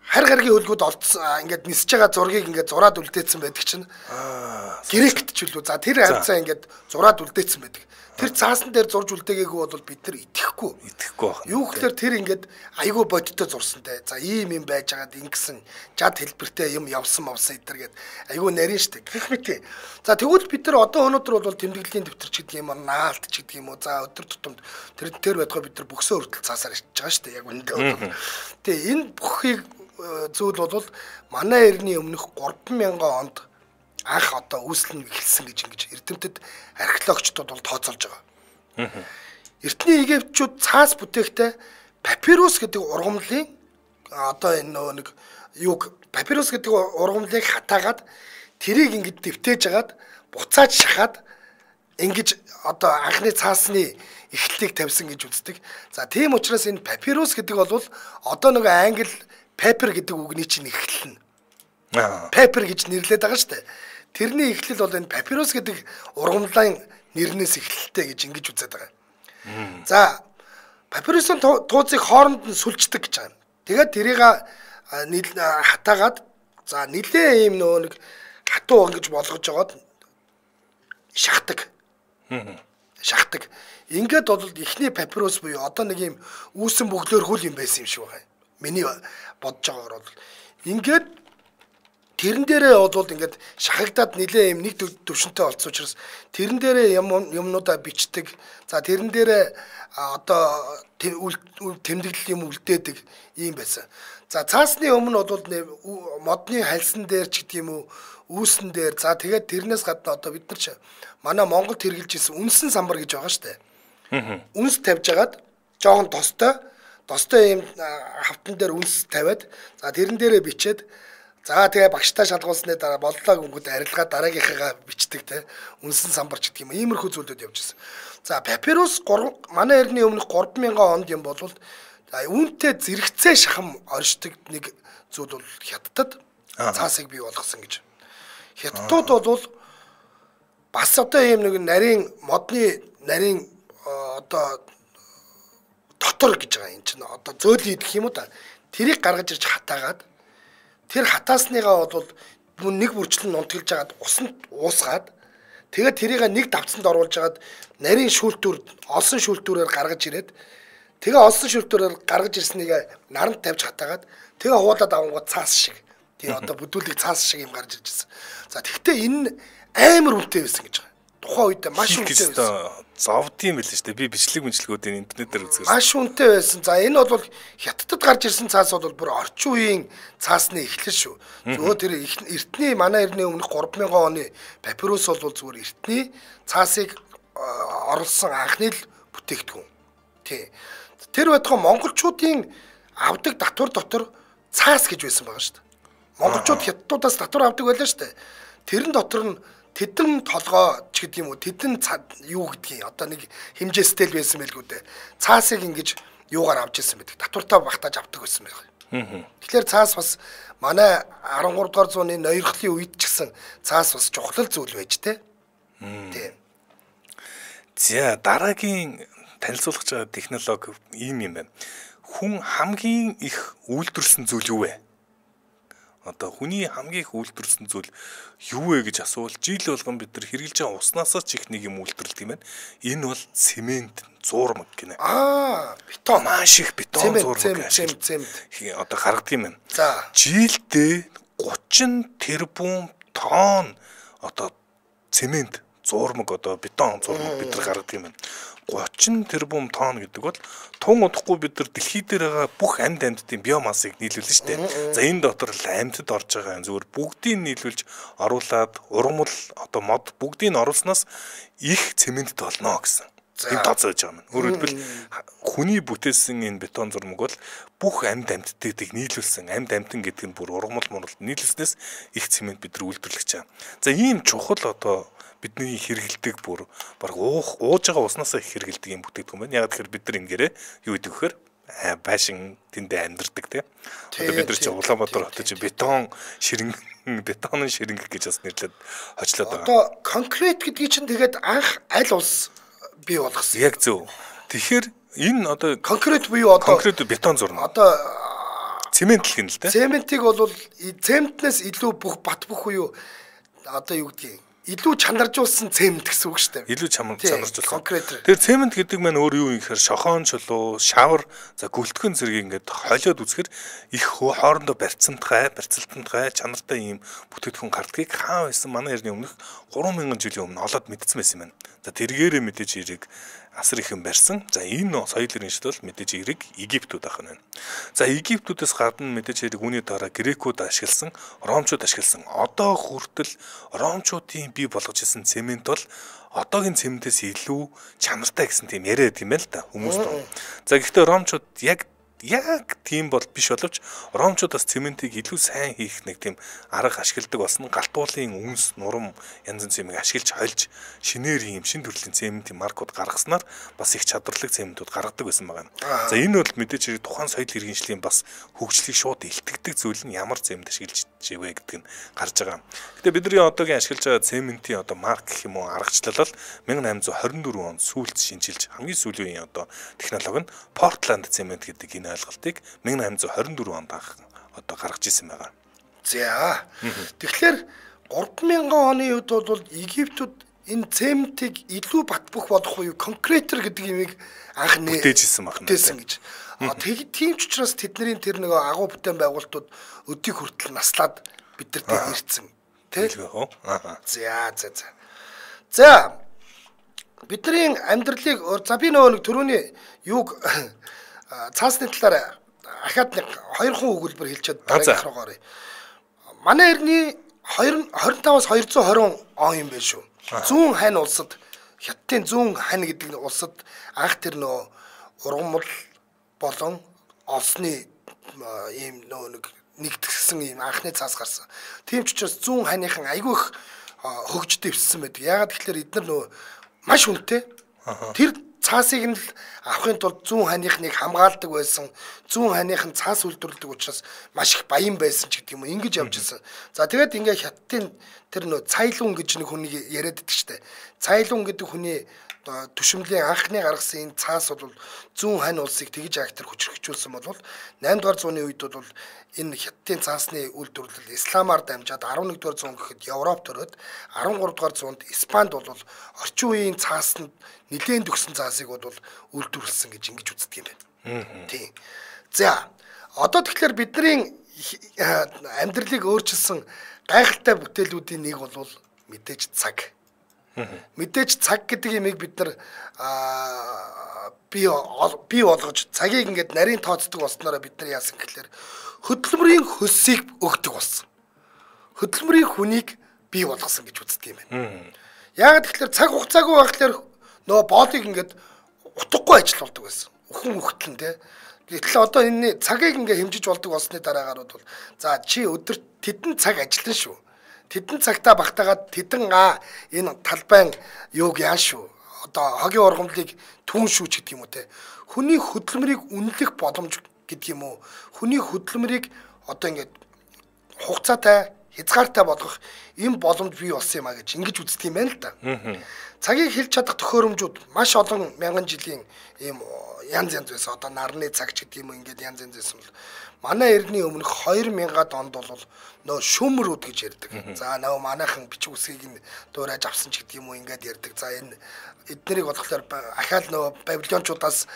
Хар гаргийн хөлгүүд олдсон ингээд нисэж байгаа зургийг ингээд зураад үлдээсэн байдаг чинь. Грект ч үлээ. За тэр хавцаа ингээд зураад үлдээсэн байдаг. Тэр цаасан дээр зурж үлдээгээгүй бол бид нар итгэхгүй. Итгэхгүй байна. Юу гэхээр тэр ингээд айгүй бодиттой зурсантай. За ийм юм байж байгаад ингэсэн жад хэлбэртэй юм явсан мавсан эдэр гэд айгүй нарийн штэ. Гэх мэт. За тэгвэл бид нар одоо өнөөдөр бол тэмдэглэлийн дэвтэр ч гэдэг юм уу, наалт ч гэдэг юм уу. За өдөр тутамд тэр тэр байтугай бид нар бүксөө хүртэл цаасаар ичж байгаа штэ. Яг үндэ бол. Тэгээ энэ бүхийг зүйл бол манай эртний өмнөх гурван мянган онд анх одоо үүслэн эхэлсэн гэж ингэж эрдэмтэд археологчдод бол тооцоолж байгаа. Эртний Египтчүүд цаас бүтээхдээ папирус гэдэг ургамлын одоо энэ нөгөө нэг юг папирус гэдэг ургамлыг хатаагаад тэрийг ингэж дэвтээж агаад буцааж шахаад ингэж одоо анхны цаасны эхлэлийг тавьсан гэж үздэг. За тийм учраас энэ папирус гэдэг бол одоо нөгөө англи paper гэдэг үгний чинь эхлэл нь. Paper гэж нэрлэдэг байгаа шүү дээ. тэрний эхлэл бол энэ папирус гэдэг ургамлын нэрнээс эхэлтэй гэж ингэж үзээд байгаа. За папирусын тууцыг хооронд нь сүлждэг гэж байгаа. Тэгээд тэрийг хатаагаад за нилээ ийм нөө нэг хатуу ингэж болгож жагаад шахдаг. Шахдаг. Ингээд бол ихний папирус буюу одоо нэг юм үүсэн бөглөөр хөл юм байсан юм шиг байна. Миний бодож байгаагаар бол ингээд тэрэн дээрээ бол ингээд шахагдаад нилээ юм нэг төвшөнтэй болсон учраас тэрэн дээрээ юм юмнуудаа бичдэг. За тэрэн дээрээ одоо тэмдэглэл юм үлдээдэг юм байсан. За цаасны өмнө бол модны хальсан дээр ч гэдэг юм уу үүсэн дээр за тэгээд тэрнээс гадна одоо бид нар ч манай Монголд хэрэгжилж ирсэн үнсэн самбар гэж байгаа шүү дээ. Үнс тавьж агаад жоохон тостой тостой юм хавтан дээр үнс тавиад за тэрэн дээрээ бичээд за тэгээ багштай шалгуулсны дараа боллоо гүнгүүд арилгаа дараагийнхаа бичдэг те үнсэн самбарч гэдэг юм. Иймэрхүү зүйлүүд явж ирсэн. За папирус манай эртний өмнөх гурван мянган онд юм болвол үүнтэй зэрэгцээ шахам оршдог нэг зүйл бол хятадд цаасыг бий болгосон гэж. Хятадууд бол бас одоо ийм нэг нарийн модны нарийн одоо дотор гэж байгаа юм чинь одоо зөөлөн идэх юм уу да. Тэрийг гаргаж ирж хатаагаад тэр хатаасныгаа бол нэг бүрчлэн нунтгалж агаад усанд уусгаад тэгээд тэрийг нэг давцанд оруулж агаад нарийн шүүлтүр олсон шүүлтүрээр гаргаж ирээд тэгээ олсон шүүлтүрээр гаргаж ирснийг наранд тавьж хатаагаад тэгээ хуулаад авангууд цаас шиг тий одоо бүдүүлэг цаас шиг юм гарч иржсэн. За тэгвэл энэ амар үнэтэй байсан гэж байгаа. Тухайн үед маш үнэтэй байсан. Зовдсон байл шүү дээ. Би бичлэг мэнчлэгүүдийн интернетээр үзсэн. Маш үнэтэй байсан. За энэ бол хятадд гарч ирсэн цаас бол бүр орчин үеийн цаасны эхлэл шүү. Зөвхөн тэр эртний манай эртний өмнөх гурван мянган оны папирус бол зүгээр эртний цаасыг оруулсан анхны л бүтээгдэхүүн. Тий. Тэр байтугай монголчуудын авдаг татвар дотор цаас гэж байсан байгаа шүү дээ. Монголчууд хятадуудаас татвар авдаг байлаа шүү дээ. Тэрэн дотор нь тэдэн толгой ч гэдэг юм уу тэдэн юу гэдгийг одоо нэг хэмжээстэй л байсан байлгүй дээ. Цаасыг ингэж юугаар авч ирсэн байдаг. Татвартаа багтааж авдаг байсан байх. Тэгэхээр цаас бас манай арван гурав дугаар зууны ноёрхлын үед ч гэсэн цаас бас чухал зүйл байж тээ. Тийм. За дараагийн танилцуулах байгаа технологи ийм юм байна. Хүн хамгийн их үйлдвэрлэсэн зүйл юу вэ? Одоо хүний хамгийн их үйлдвэрлэсэн зүйл юу вэ гэж асуувал жил болгон бид нар хэрэгжилж байгаа уснаас ч их нэг юм үйлдвэрлэдэг юм байна. Энэ бол цемент, зурмаг гинэ. Аа, бетон маш их бетон зурмаг цемент одоо гаргадаг юм байна. За жилдээ гучин тэрбум тонн одоо цемент, зурмаг одоо бетон зурмаг бид нар гаргадаг юм байна. гучин тэрбум тонн гэдэг бол тун удахгүй бид нар дэлхий дээр байгаа бүх амьд амьдтын биомассыг нийлүүлнэ шүү дээ. За энэ дотор л амьтад орж байгаа зүгээр бүгдийг нийлүүлж оруулаад ургамал одоо мод бүгдийг нь оруулснаас их цементд болно гэсэн. Энэ тооцоож байгаа юм. Өөрөөр хэлбэл хүний бүтээсэн энэ бетон зурмаг бол бүх амьд амьдтыг нийлүүлсэн амьд амьтан гэдэг нь бүр ургамал муралд нийлүүлснээс их цемент бид нар үйлдвэрлэж байгаа. За ийм чухал одоо бидний хэрэгэлдэг бүр баг уух ууж байгаа уснасаа их хэрэгэлдэг юм бүтээгдэхүүн байна. Яг тэгэхээр бид нар ингээрээ юу гэдэг вэхээр байшин тэндээ амьдардаг тийм. Одоо бид нар чи Улаанбаатар хотод чи бетон ширэнг бетонын ширэнг гэж бас нэрлээд хочлоод байгаа. Одоо конкрет гэдгийг чинь тэгээд анх аль улс бий болгосон. Яг зөв. Тэгэхээр энэ одоо конкрет буюу одоо конкрет бетон зурна. Одоо цемент л гин л тийм. Цементийг бол цементнээс илүү бүх бат бүх юу одоо юу гэдгийг илүү чанаржуулсан цемент гэсэн үг шүү дээ. Илүү чанаржуулсан. Тэр цемент гэдэг маань өөр юу юм гэхээр шохон чулуу, шавар, за гөлтгөн зэрэг ингээд холиод үзэхэр их хоорондоо барьцамтгай, барьцалтамтгай, чанартай ийм бүтээгдэхүүн гардгийг хаан байсан манай эртний өмнөх гурван мянган жилийн өмнө олоод мэдсэн байсан юм байна. За тэргээрээ мэдээж ирэг асар ихэн барьсан. За энэ соёл иргэншил бол мэдээж ирэг Египтүүд ах нь байна. За Египтүүдээс гадна мэдээж ирэг үүний дараа грекүүд ашигласан, ромчууд ашигласан. Одоо хүртэл ромчуудын бий болгож ирсэн цемент бол одоогийн цементээс илүү чанартай гэсэн тийм яриад юм байл та хүмүүст. За гэхдээ ромчууд яг яг тийм бол биш боловч ромчууд бас цементийг илүү сайн хийх нэг тийм арга ашигладаг болсон. Галтуулын үнс, нурам янз бүрийн цементийг ашиглаж хольж шинээр ийм шин төрлийн цементийн маркууд гаргаснаар бас их чадварлаг цементүүд гаргадаг байсан байгаа. За энэ бол мэдээж тухайн соёл иргэншлийн бас хөгжлийг шууд илтгэдэг зүйл нь ямар цемент ашиглаж живэ гэдэг нь гарч байгаа. Гэтэ бидний одоогийн ашиглаж байгаа цементийн одоо марк гэх юм уу аргачлал бол мянга найман зуун хорин дөрвөн онд сүүлд шинжилж хамгийн сүүлийн одоо технологи нь Портланд цемент гэдэг энэ ойлголтыг мянга найман зуун хорин дөрвөн онд анх одоо гаргаж ирсэн байгаа. За. Тэгэхээр гурван мянган оны үед бол Египтүүд энэ цементийг илүү бат бөх болгох уу конкретер гэдэг юмыг анх нээжсэн байна. Нээсэн гэж. А тэг тийм ч учраас тэдний тэр нэг агуу бүтээн байгуулалтууд өдийг хүртэл наслаад бидэрт ирсэн. Тэ? За за за. За бидний амьдралыг за би нөгөө нэг түрүүний юуг цаасны талаар ахаад нэг хоёр хон өгүүлбэр хэлчихэд дараагийн руугаар. Манай эртний двадцать пятаас двести двадцать он юм байна шүү. Зүүн хань улсад Хятадын зүүн хань гэдэг улсад анх тэр нөө ургамал болон олсны ийм нөө нэг нэгтгэсэн ийм анхны цаас гарсан. Тийм ч учраас зүүн ханыхан айгүй их хөгжид дэвссэн байдаг. Яагаад тэгэхээр эдгээр нөө маш хүнтэй. Тэр цаасыг нь авахын тулд зүүн ханыхныг хамгаалдаг байсан. Зүүн ханыхан цаас үйлдвэрлэдэг учраас маш их баян байсан ч гэдэг юм уу ингэж явж ирсэн. За тэгээд ингээ Хятадын тэр нөө Цайлун гэж нэг хүнийг яриад байдаг штэ. Цайлун гэдэг хүний түшимлийн анхны гаргасан энэ цаас бол зүүн хань улсыг тэгж актер хүчрхэгжүүлсэн бол наймд дугаар зууны үед бол энэ Хятадын цаасны үйлдвэрлэл исламаар дамжаад арван нэгдүгээр зуун гэхэд Европ төрөөд арван гурав дугаар зуунд Испанд бол орчин үеийн цаасанд нэлээд төгсөн цаасыг бол үйлдвэрлэсэн гэж ингэж үздэг юм байна. Тийм. За одоо тэгэхээр бидний амьдралыг өөрчилсөн гайхалтай бүтээлүүдийн нэг бол мэдээж цаг. Мэдээж цаг гэдэг юмыг бид нар бий бий болгож цагийг ингээд нарийн тооцдог болсноороо бид нар яасан гэхэлэр хөдөлмөрийн хөлсийг өгдөг болсон. Хөдөлмөрийн хүнийг бий болгосон гэж үздэг юм байна. Яагаад гэхэлэр цаг хугацаагүй байхлаар нөгөө боолыг ингээд утгагүй ажиллаулдаг байсан. Өхөн үхтлэн те. Гэтэл одоо энэ цагийг ингээд хэмжиж болдог болсны дараагаар бол за чи өдөрт тэдэн цаг ажиллана шүү. Тэдэн цагтаа багтаагаад тэдэн аа энэ талбайн юуг яа шүү. Одоо хогийн ургамлыг түн шүүч гэдэг юм уу те. Хүний хөдөлмөрийг үнэлэх боломж гэдэг юм уу. Хүний хөдөлмөрийг одоо ингээд хугацаатай хязгаартай болгох юм боломж бий болсон юм а гэж ингэж үздэг юм байна л да. Цагийг хэлж чадах төхөөрөмжүүд маш олон мянган жилийн ийм янз янз байсан. Одоо нарны цаг ч гэдэг юм уу ингээд янз янз байсан бол манай эртний өмнөх хоёр мянган онд бол нөө шүүмрүүд гэж ярьдаг. За нөө манайхан бичиг үсгийг нь дуурайж авсан ч гэдэг юм уу ингээд ярьдаг. За энэ эднэрийг болохоор ахаал нөө Бабилончуудаас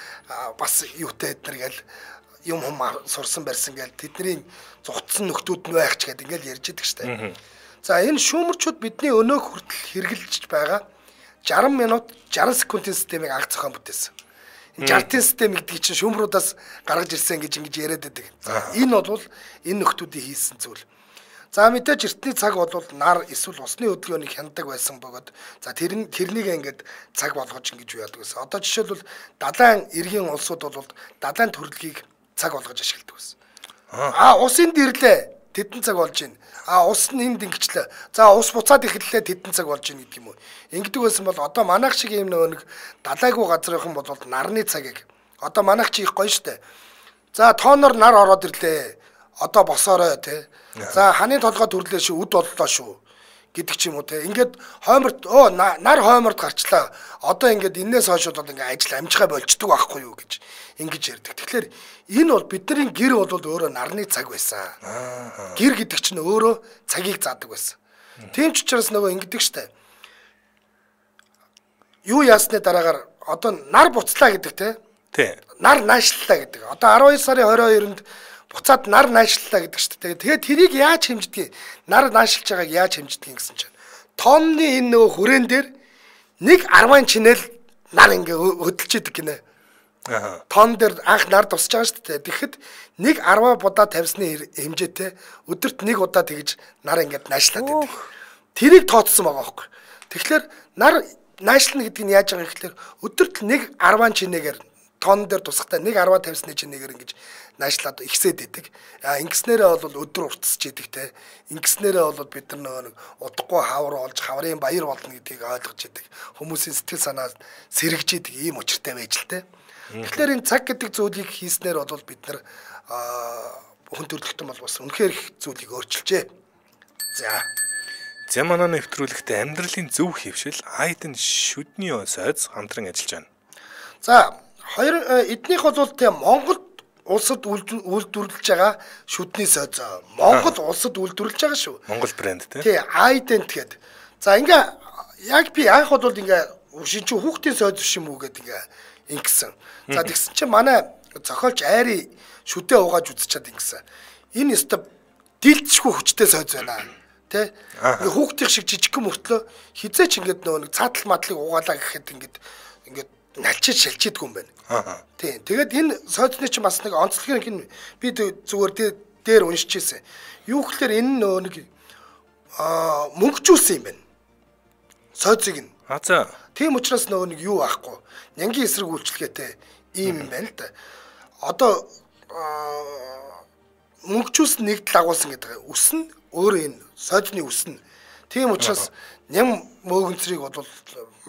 бас юутай эднэр гээл юм хум сурсан барьсан гээл тэдний зугтсан нөхдүүд нь байх ч гэдэг ингээд ярьж идэг штэ. За энэ шүүмрчүүд бидний өнөөх хүртэл хэрэгжилж байгаа жарган минут жарган секундын системийг анх зохион бүтээсэн. Жартын систем гэдэг чинь шүүмруудаас гаргаж ирсэн гэж ингэж яриад байдаг. Энэ бол энэ нөхдүүдийн хийсэн зүйл. За мэдээж эртний цаг бол нар эсвэл усны хөдөлгөөнийг хяндаг байсан бөгөөд за тэр тэрнийг ингээд цаг болгож ингэж яадаг гэсэн. Одоо жишээлбэл далайн эргийн улсууд бол далайн төрөлхийг цаг болгож ашигладаг байсан. Аа усын дэрлээ тэдэн цаг болж байна. А ус нь энд ингэчлээ. За ус буцаад эхэллээ тэдэн цаг болж ийн гэдэг юм уу. Ингэдэг байсан бол одоо манайх шиг юм нэг далайгүй газрынхан бол нарны цагийг одоо манайх чи их гоё штэ. За тооноор нар ороод ирлээ. Одоо босоорой те. За ханы толгой төрлөө шүү, үд боллоо шүү гэдэг ч юм уу те. Ингээд хойморт оо нар хойморт гарчлаа. Одоо ингээд энээс хойш бол ингээд ажил амжихаа болчдөг байхгүй юу гэж ингэж ярьдаг. Тэгэхээр энэ бол бидний гэр бол өөрөө нарны цаг байсан. Гэр гэдэг чинь өөрөө цагийг заадаг байсан. Тийм ч учраас нөгөө ингэдэг штэ. Юу яасны дараагаар одоо нар буцлаа гэдэг те. Тий. Нар наашлаа гэдэг. Одоо арван хоёр сарын хорин хоёрнд буцаад нар наашлаа гэдэг штэ. Тэгээд тэрийг яаж хэмждэг? Нар наашлж байгааг яаж хэмждэг гэсэн чинь. Тонны энэ нөгөө хүрээн дээр нэг арван чинэл нар ингээ хөдөлж идэг гинэ. Аа. Тон дээр анх нар тусч байгаа шүү дээ. Тэгэхэд нэг арван удаа тавьсны хэмжээтэй өдөрт нэг удаа тэгж нар ингээд наашлаад байдаг. Тэрийг тооцсон байгаа байхгүй. Тэгэхээр нар наашлна гэдэг нь яаж байгаа юм гэхээр өдөрт нэг арван чинээгээр тонн дээр тусахтаа нэг арваа тавьсны чинь нэгээр ингэж наашлаад ихсээд идэг. А ингэснээрээ бол өдөр уртсаж идэг те. Ингэснээрээ бол бид нар нэг удахгүй хавар олж хаврын баяр болно гэдгийг ойлгож идэг. Хүмүүсийн сэтгэл санаа сэргэж идэг ийм учиртай байж л те. Тэгэхээр энэ цаг гэдэг зүйлийг хийснээр бол бид нар хүн төрөлхтөн бол бас үнэхээр их зүйлийг өөрчилжээ. За. За манай нэвтрүүлэгтээ амьдралын зөв хөвшил Айдэн шүдний сайз хамтран ажиллаж байна. За хоёр эднийх бол тийм Монгол улсад үйлдвэрлэж байгаа шүдний сайз. Монгол улсад үйлдвэрлэж байгаа шүү. Монгол брэнд тий. Тий, Айдэн тэгээд. За ингээ яг би анх бол ингээ шинж хүүхдийн сайз биш юм уу гэдэг ингээ ингэсэн. За тэгсэн чинь манай зохиолч айри шүдээ угааж үзчихад ингэсэн. Энэ өстө дилдшгүй хүчтэй сайз байна. Тэ ингээ хүүхдийн шиг жижигхэн мөртлөө хизээч ингээд нөгөө нэг цаатал мадлыг угаалаа гэхэд ингээд ингээд налчиж шалчидгүй юм байна. Аа. Тийм. Тэгээд энэ сойцны чинь бас нэг онцлог юм би зүгээр дээр уншиж ирсэн. Юу гэхээр энэ нөгөө нэг аа мөнгөжүүлсэн юм байна. Сойцыг нь. Аа за. Тийм учраас нөгөө нэг юу аахгүй. Нянгийн эсрэг үйлчлэгээтэй ийм юм байна л да. Одоо мөнгөжүүлсэн нэгдэл агуулсан гэдэг үс нь өөрөө энэ сойдны үс нь. Тийм учраас ням мөөгөнцрийг бол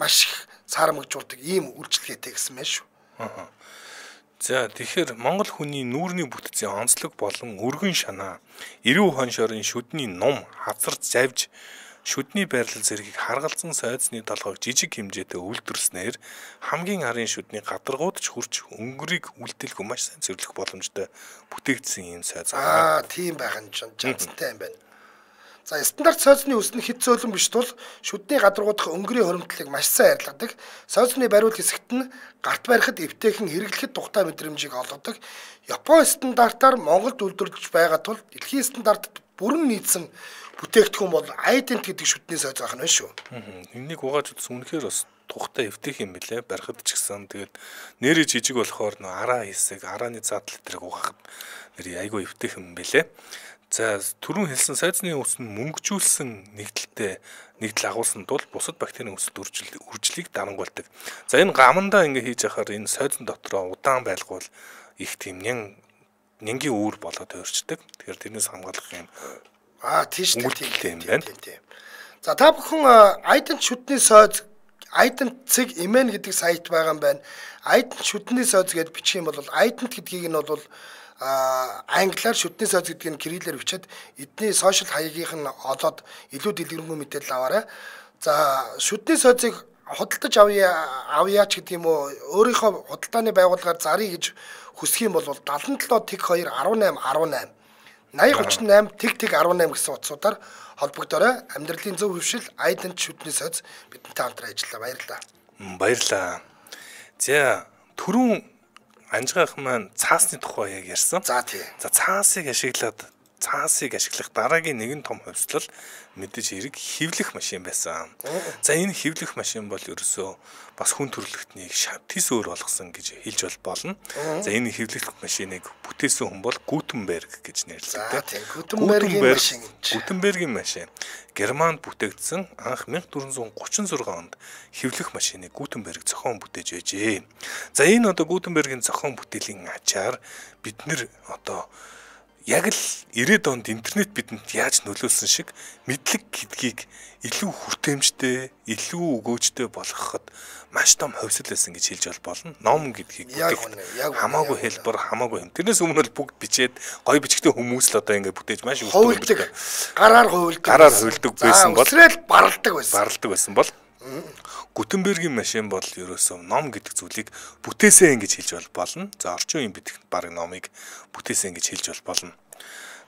маш их саарамгжуулдаг ийм үйлчлэгээтэй гэсэн мэн шүү. За тэгэхээр Монгол хүний нүүрний бүтцийн онцлог болон өргөн шанаа эрүү хоншорын шүдний ном хавцарч завж шүдний байрлал зэргийг харгалзан сойдсны толгойг жижиг хэмжээтэй үйлдвэрснээр хамгийн арын шүдний гадаргууд ч хүрч өнгөрийг үлдээлгүй маш сайн цэвэрлэх боломжтой бүтээгдсэн юм сойз аа тийм байх нь жанцтай юм байна. За стандарт сойзны үс нь хэд зөөлөн биш тул шүдний гадаргуудах өнгөрийн хоримтлыг маш сайн арилгадаг. Сойзны бариул хэсэгт нь гарт барихад эвтэйхэн хэрэглэхэд тухтай мэдрэмжийг олгодог. Японы стандартаар Монголд үйлдвэрлэж байгаа тул дэлхийн стандартад бүрэн нийцсэн бүтээгдэхүүн бол Айдент гэдэг шүдний сойз байх нь байна шүү. Энийг угааж үзсэн үнэхээр бас тухтай эвтэйх юм билэ. Барихад ч гэсэн тэгээд нэрээ жижиг болохоор нөө араа хэсэг, арааны цаатал тэрэг угаахад нэр айгүй эвтэйх юм билэ. За түрүүн хэлсэн сойзны үс нь мөнгөжүүлсэн нэгдэлтэй нэгдэл агуулсан тул бусад бактерийн өсөлт үржлийг дарангуйлдаг. За энэ гамандаа ингэ хийж яхаар энэ сойзон дотроо удаан байлгуул их тийм нян нянгийн үүр болоод өөрчдөг. Тэгэхээр тэрнээс хамгаалах юм аа тийш тийм юм байна. За та бүхэн Айдент шүдний сойз Айдент цэг имэн гэдэг сайт байгаа юм байна. Айдент шүдний сойз гэдээ бичих юм бол Айдент гэдгийг нь бол англиар шүдний сойз гэдгийг кириллээр бичээд эдний сошиал хаягийнх нь олоод илүү дэлгэрэнгүй мэдээлэл аваарай. За шүдний сойзыг худалдаж авъя авъяач гэдэг юм уу өөрийнхөө худалдааны байгууллагаар заръя гэж хүсэх юм бол seventy seven тэг two eighteen eighteen eighty thirty eight тэг тэг eighteen гэсэн утсуудаар холбогдорой. Амьдралын зөв хөвшил Айдент шүдний сойз бидэнтэй хамтран ажиллаа. Баярлалаа. Баярлалаа. За түрүүн Анжгаах маань цаасны тухай яг ярьсан. За тий. За цаасыг ашиглаад цаасыг ашиглах дараагийн нэгэн том хувьслал мэдээж хэрэг хевлэх машин байсан. За энэ хевлэх машин бол ерөөсөө бас хүн төрөлхтнийг тис өөр болгосон гэж хэлж болно. За энэ хевлэх машиныг бүтээсэн хүн бол Гутенберг гэж нэрлэдэг. Гутенбергийн машин. Гутенбергийн машин. Германд бүтээгдсэн анх fourteen thirty-six онд хевлэх машиныг Гутенберг зохион бүтээж байжээ. За энэ одоо Гутенбергийн зохион бүтээлийн ачаар бид нэр одоо яг л ирээд онд интернет бидэнд яаж нөлөөлсөн шиг мэдлэг гэдгийг илүү хүртээмжтэй, илүү өгөөжтэй болгоход маш том хувьсэл байсан гэж хэлж болно. Ном гэдгийг бүтээх хамаагүй хэлбэр, хамаагүй юм. Тэрнээс өмнө л бүгд бичээд гой бичгтэй хүмүүс л одоо ингэ бүтээж маш хувилдаг. Гараар хувилдаг. Гараар хувилдаг байсан бол өсрэл баралдаг байсан. Баралдаг байсан бол Гутенбергийн машин бол ерөөсөө ном гэдэг зүйлийг бүтээсэн гэж хэлж болно. За орчин үеийн битгэх баг номыг бүтээсэн гэж хэлж болно.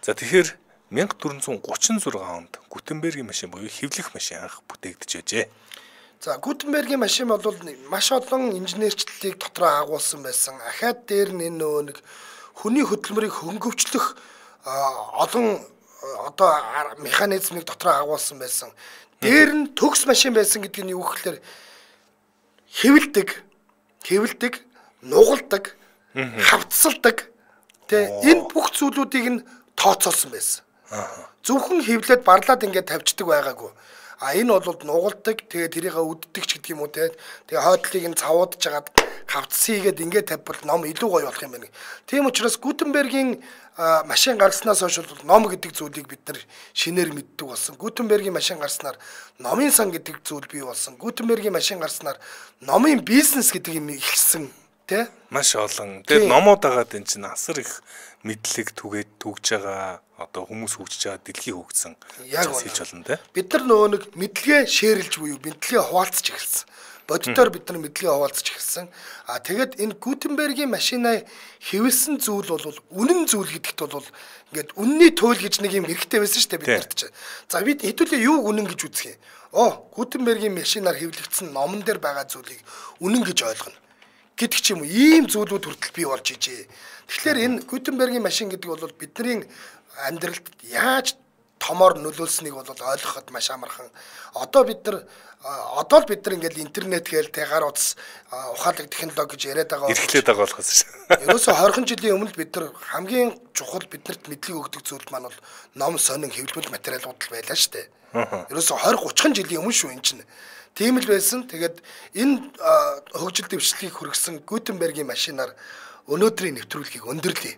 За тэгэхээр fourteen thirty-six онд Гутенбергийн машин буюу хевлэх машин анх бүтээгдэж байжээ. За Гутенбергийн машин бол маш олон инженерчлэлийг дотроо агуулсан байсан. Ахаад дээр нь энэ нөгөө нэг хүний хөдөлмөрийг хөнгөвчлөх олон одоо механизмыг дотроо агуулсан байсан. Дээр нь төгс машин байсан гэдэг нь юу гэхээр хэвлдэг, хэвлдэг, нугалдаг, хавцалдаг. Тэ энэ бүх зүйлүүдийг нь тооцоолсон байсан. Зөвхөн хэвлээд барлаад ингээд тавьчихдаг байгаагүй. А энэ бол нугалдаг, тэгээ тэрийг үддэг ч гэдэг юм уу те. Тэгээ хойдлыг нь цавуудж жагаад хавцсан хийгээд ингээд тавьбал ном илүү гоё болох юм байна. Тийм учраас Гутенбергийн машин гаргаснаас хойш бол ном гэдэг зүйлийг бид нар шинээр мэддэг болсон. Гутенбергийн машин гарснаар номын сан гэдэг зүйл бий болсон. Гутенбергийн машин гарснаар номын бизнес гэдэг юм ихсэн тэ маш олон. Тэгээд номоод агаад энэ чинь асар их мэдлэг түгээд түгж байгаа одоо хүмүүс хөгжиж байгаа дэлхий хөгжсөн яг хийж болно те. Бид нар нөгөө нэг мэдлэгээ шеэрлж буюу мэдлэгээ хуваалцаж эхэлсэн. Бодитоор бид нар мэдлэгээ хуваалцаж эхэлсэн. А тэгээд энэ Гутенбергийн машинаа хэвлсэн зүйл бол үнэн зүйл гэдэгт бол ингээд үнний туйл гэж нэг юм хэрэгтэй байсан шүү дээ бид нарт чинь. За бид хэдүүлээ юу үнэн гэж үзэх юм. Оо Гутенбергийн машинаар хэвлэгдсэн номон дээр байгаа зүйлийг үнэн гэж ойлгоно гэдэг ч юм уу ийм зүйлүүд хүртэл бий болж ижээ. Тэгэхээр энэ Гутенбергийн машин гэдэг бол бидний амьдралд яаж томоор нөлөөлснийг бол ойлгоход маш амархан. Одоо бид нар одоо л бид нар ингээл интернет гээл тэ гар утас ухаалаг технологи гэж яриад байгаа. Эрхлээд байгаа болохоос шүү. Ерөөсө хорхон жилийн өмнө бид нар хамгийн чухал биднэрт мэдлэг өгдөг зүйл маань бол ном сонин хэвлэмэл материалууд л байлаа шүү дээ. Ерөөсө двадцать тридцать жилийн өмнө шүү энэ чинь. Тийм л байсан. Тэгээд энэ хөгжил дэвшлийг хүргэсэн Гутенбергийн машинаар өнөөдрийн нэвтрүүлгийг өндөрлөе.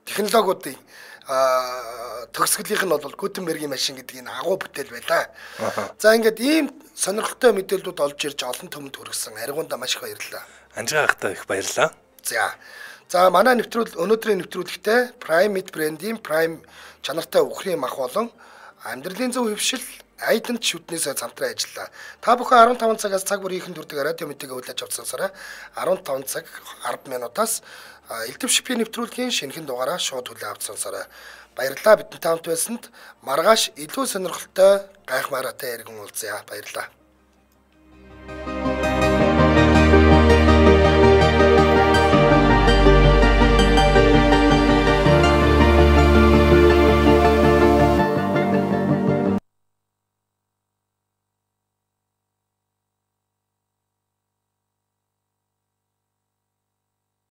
Технологиудын төгсгөлийнх нь бол Гутенбергийн машин гэдэг энэ агуу бүтээл байлаа. За ингээд ийм сонирхолтой мэдээллүүд олж ирж олон түмэнд хүргэсэн аригуунда маш их баярлалаа. Анжаагахтаа их баярлалаа. За. За манай нэвтрүүл өнөөдрийн нэвтрүүлэгтээ Prime Meat брендийн Prime чанартай үхрийн мах болон амьдралын зөв хөвшил айданд шүтнээс хамтран ажиллаа. Та бүхэн арван таван цагаас цаг бүр ихэн дүрдэг радио мэдээгээ хүлээж авсансараа арван таван цаг арван минутаас Элдв шипийн нэвтрүүлгийн шинэхэн дугаараа шууд хүлээн авсансараа баярлалаа. Бидэнтэй хамт байсанд маргааш илүү сонирхолтой гайхамшигтай иргэн уулзъя. Баярлалаа.